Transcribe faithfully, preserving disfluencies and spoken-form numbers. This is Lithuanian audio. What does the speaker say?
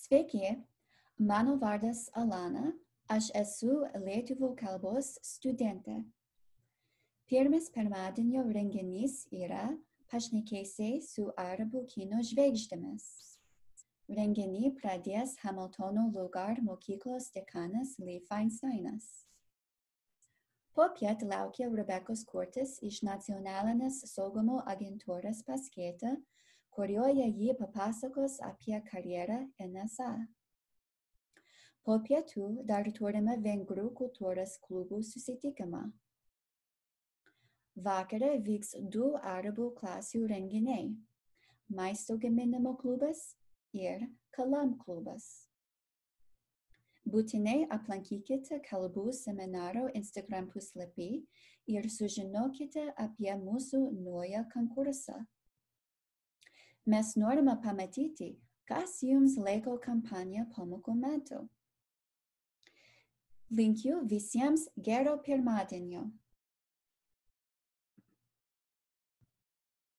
Sveiki, mano vardas Alana, aš esu lietuvių kalbos studentė. Pirmas pirmadienio renginys yra pašnekesiai su arabų kino žvaigždėmis. Renginį pradės Hamiltono Lugar mokyklos dekanas Lee Feinsteinas. Popiet laukia Rebekos Kurtis iš nacionalinės saugumo agentūros paskaita, kurioje ji papasakos apie karjerą N S A. Po pietų dar turime vengrų kultūros klubų susitikimą. Vakare vyks du arabų klasių renginiai – maisto gaminimo klubas ir kalam klubas. Būtinai aplankykite kalbų seminaro Instagram puslapį ir sužinokite apie mūsų naują konkursą. Mes norime pamatyti, kas jums laiko kampaniją pamokų metu. Linkiu visiems gero pirmadienio.